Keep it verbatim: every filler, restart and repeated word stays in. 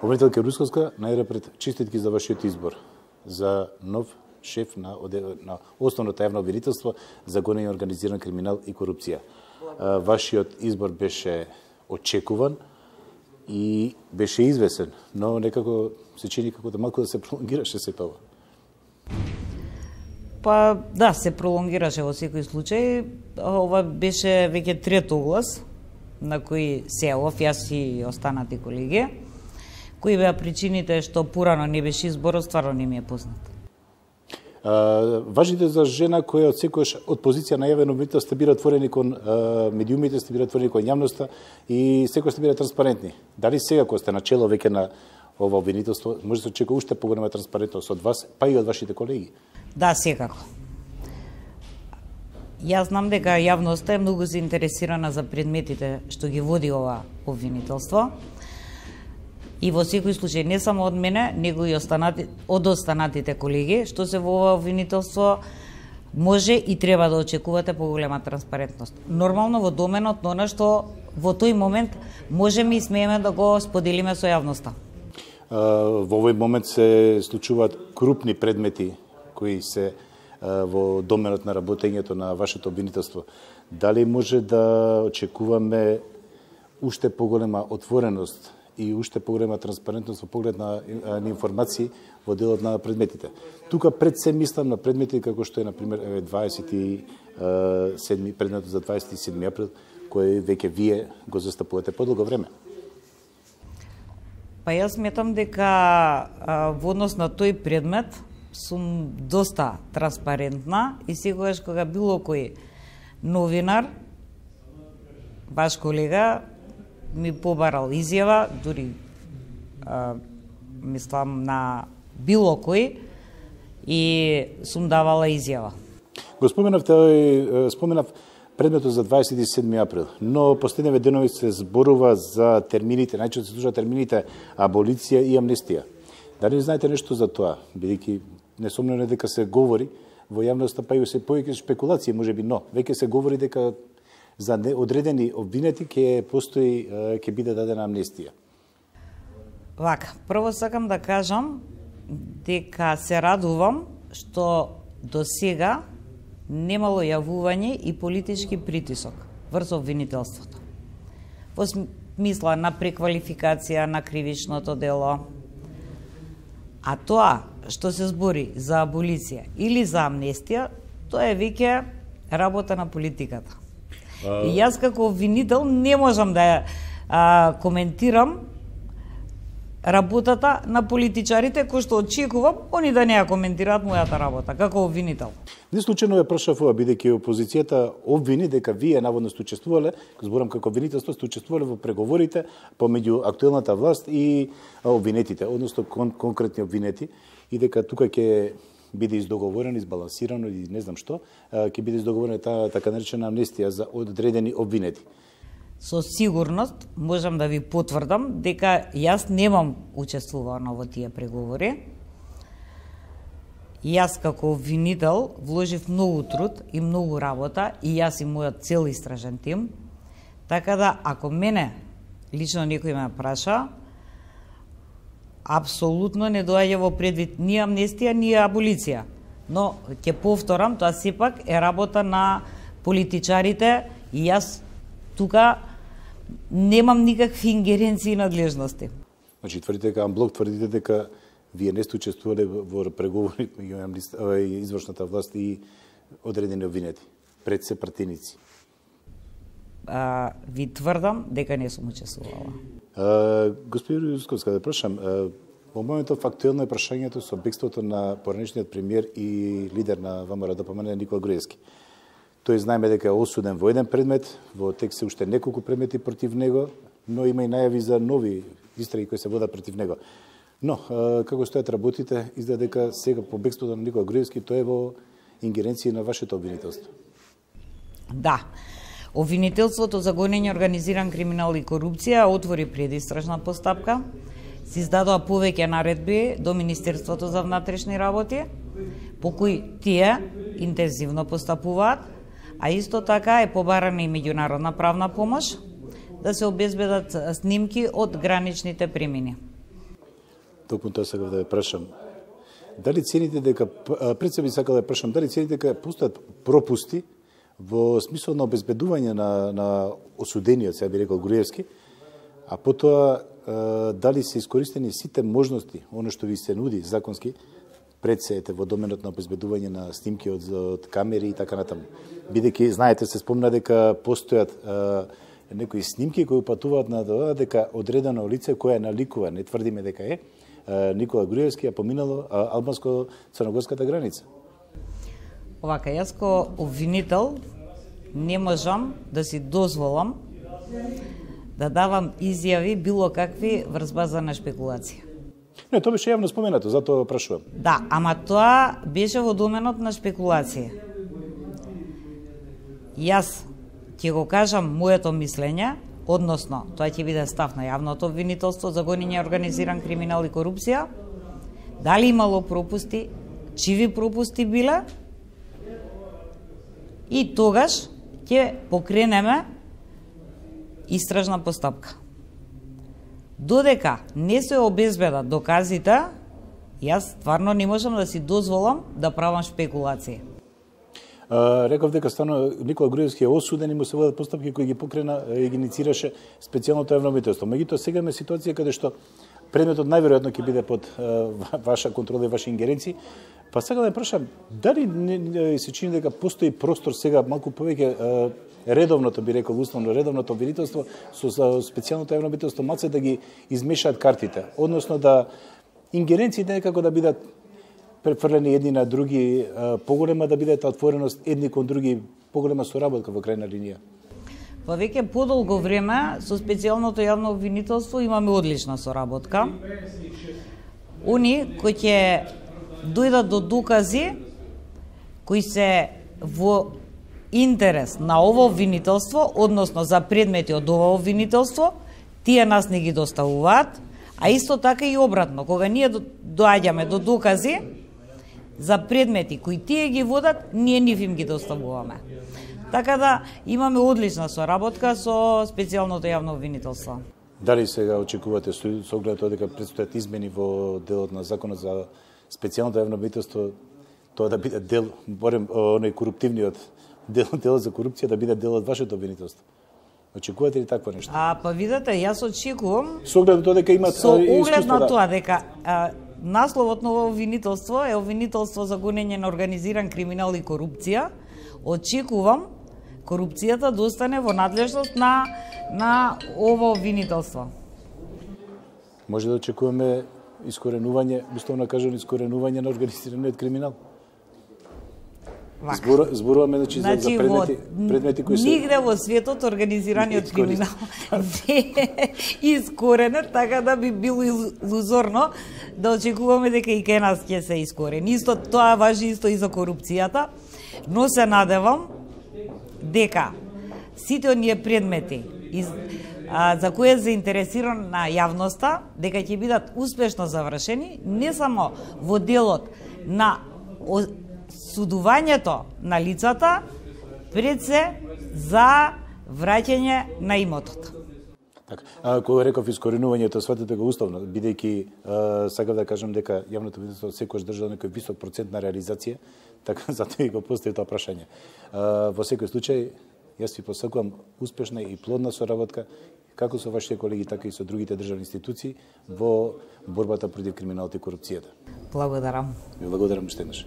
Обвинителка Русковска, најрапред честитки за вашиот избор за нов шеф на, на основното јавно обвинителство за гонење организиран криминал и корупција. Вашиот избор беше очекуван и беше извесен, но некако се чини како да малку да се пролонгираше се тоа. Па да, се пролонгираше во секој случај. Ова беше веќе трет оглас на кој се явов, јас и останати колеги. Кои беа причините што порано не беше изборот, стварно не ми е познат. Uh, важите за жена која од секојаш од позиција на јавен обвинител сте била отворени кон uh, медиумите, сте била отворени кон јавноста и секој сте била транспарентни. Дали сега кога сте начело веќе на ова обвинителство, може да се очекува уште поголема транспарентност од вас, па и од вашите колеги? Да, секако. Јас знам дека јавноста е многу заинтересирана за предметите што ги води ова обвинителство. И во секој случај, не само од мене, него и останати, од останатите колеги, што се во ова обвинителство, може и треба да очекувате поголема транспарентност. Нормално во доменот на она што во тој момент можеме и смееме да го споделиме со јавноста. Во овој момент се случуваат крупни предмети кои се во доменот на работењето на вашето обвинителство. Дали може да очекуваме уште поголема отвореност и уште поголема транспарентност во поглед на, на информации во делот на предметите? Тука пред се мислам на предмети како што е, например, дваесет и седми, предметот за дваесет и седми април, кој веќе вие го застапувате подолго време. Па јас сметам дека а, во однос на тој предмет сум доста транспарентна и секогаш кога било кој новинар, ваш колега, ми побарал изјава, дури а, мислам на било кој, и сум давала изјава. Го споменавте, споменав предметот за дваесет и седми април, но последниве денови се зборува за термините, најчесто се слушаат термините аболиција и амнестија. Дали знаете нешто за тоа, бидејќи несомнено дека се говори во јавноста, па и се повеќе спекулации можеби, но веќе се говори дека за одредени обвинети ќе постои, ќе биде дадена амнестија. Вака, прво сакам да кажам дека се радувам што до сега немало јавување и политички притисок врз обвинителството. Во смисла на преквалификација на кривичното дело. А тоа што се збори за аболиција или за амнестија, тоа е веќе работа на политиката. А... И јас како обвинител не можам да а, коментирам работата на политичарите, кои што очекувам они да не ја коментираат мојата работа како обвинител. Не случајно ја прашав ова, бидејќи опозицијата обвини дека вие наводно сте учествувале, зборам како обвинителство, сте учествувале во преговорите помеѓу актуелната власт и обвинетите, односно кон, конкретни обвинети, и дека тука ќе биде издоговорено, избалансирано и не знам што, ќе биде издоговорена таа така наречена амнестија за одредени обвинети. Со сигурност можам да ви потврдам дека јас немам учествувано во тие преговори. Јас како обвинител вложив многу труд и многу работа и јас и мојот цел истражен тим. Така да, ако мене лично некој ме праша, апсолутно не доаѓа во предвид ни амнестија, ни аболиција. Но, ќе повторам, тоа сепак е работа на политичарите и јас тука немам никакви ингеренции и надлежности. Значи, тврдите дека амблок, тврдите дека вие не сте учествувале во преговори меѓу извршната власт и одредени обвинети, пред се пратеници. А, ви тврдам дека не сум учествувала. Господин Русковска, да прашам, во моментов актуелно е прашањето со бегството на поранешниот премиер и лидер на ВМРО ДПМН Никола Груевски. Тој знаеме дека е осуден во еден предмет, во текст се уште неколку предмети против него, но има и најави за нови истраги кои се водат против него. Но, како стојат работите, изгледа дека сега по бегството на Никола Груевски тоа е во ингеренција на вашето обвинителство. Да. Обвинителството за гонење организиран криминал и корупција отвори предистражна постапка. Се издадоа повеќе наредби до Министерството за внатрешни работи, по кои тие интензивно постапуваат, а исто така е побарана и меѓународна правна помош да се обезбедат снимки од граничните премини. Токму тоа сакав да ве прашам. Дали цените дека пред себе сакав да ве прашам, дали цените дека постојат пропусти во смисол на обезбедување на на осудениот, сега би рекол Груевски, а потоа дали се искористени сите можности, оно што ви се нуди законски, пред се ете во доменот на обезбедување на снимки од, од камери и така натаму. Бидејќи, знаете, се спомна дека постојат а, некои снимки кои упатуваат на тоа дека одредено лице кое наликува, не тврдиме дека е, а, Никола Груевски ја поминало албанско-црногорската граница. Овака, јас ко обвинител не можам да си дозволам да давам изјави било какви врз база на шпекулација. Не, тоа беше јавно споменато, затоа прашувам. Да, ама тоа беше во доменот на шпекулација. Јас ќе го кажам моето мислење, односно тоа ќе биде став на јавното обвинителство за гонење организиран криминал и корупција. Дали имало пропусти, чиви пропусти биле, и тогаш ќе покренеме истражна постапка. Додека не се обезбедат доказите, јас стварно не можам да си дозволам да правам шпекулации. А, реков дека стано Никола Груевски е осуден и му се водат постапки кои ги покрена и ги инициираше специјалното јавно обвинителство. Меѓутоа сега имаме ситуација каде што предметот најверојатно ќе биде под а, ваша контрола и ваши ингеренции. Па сега да прашам, дали не, не се чини дека постои простор сега малку повеќе а, редовното, би рекол, условно редовното обвинителство со специјалното јавно обвинителство малце да ги измешаат картите, односно да ингеренциите некако да бидат префрлени едни на други, поголема да биде отвореност едни кон други, поголема соработка во крајна линија. Па веќе подолго време со специјалното јавно обвинителство имаме одлична соработка. Они кои ќе дојдат до докази кои се во интерес на ово обвинителство, односно за предмети од ово обвинителство, тие нас не ги доставуваат, а исто така и обратно, кога ние доаѓаме до докази за предмети кои тие ги водат, ние нив им ги доставуваме. Така да имаме одлична соработка со специјалното јавно обвинителство. Дали сега очекувате со оглед тоа дека предстојат измени во делот на законот за специјалното јавно обвинителство, тоа да биде дел, барем оној коруптивниот дел, делот за корупција да биде дел од вашето обвинителство? Очекувате ли такво нешто? А, па видете, јас очекувам со оглед на тоа дека имат со оглед на да... тоа дека а, насловот на ово обвинителство е обвинителство за гонење на организиран криминал и корупција, очекувам корупцијата да остане во надлежност на на ово обвинителство. Може да очекуваме искоренување, условно кажано искоренување на организираниот криминал? Збор, зборуваме значи, значи, за предмети, предмети кои се... Нигде во светот организираниот криминал не е искоренет, така да би било илузорно да очекуваме дека и кај нас ќе се искорени. Исто тоа важи исто и за корупцијата, но се надевам дека сите оние предмети из, а, за кои е заинтересирана јавноста, дека ќе бидат успешно завршени, не само во делот на судувањето на лицата, пред се за враќање на имотот. Така, а, кога реков искоренувањето, сватете го уставно, бидејќи сакав да кажам дека јавното обвинителство секогаш држа некој висок процент на реализација, така затоа и го постави тоа прашање. А, во секој случај, јас ви посакувам успешна и плодна соработка, како со вашите колеги, така и со другите државни институции во борбата против криминалот и корупцијата. Благодарам. Ви благодарам уште еднаш.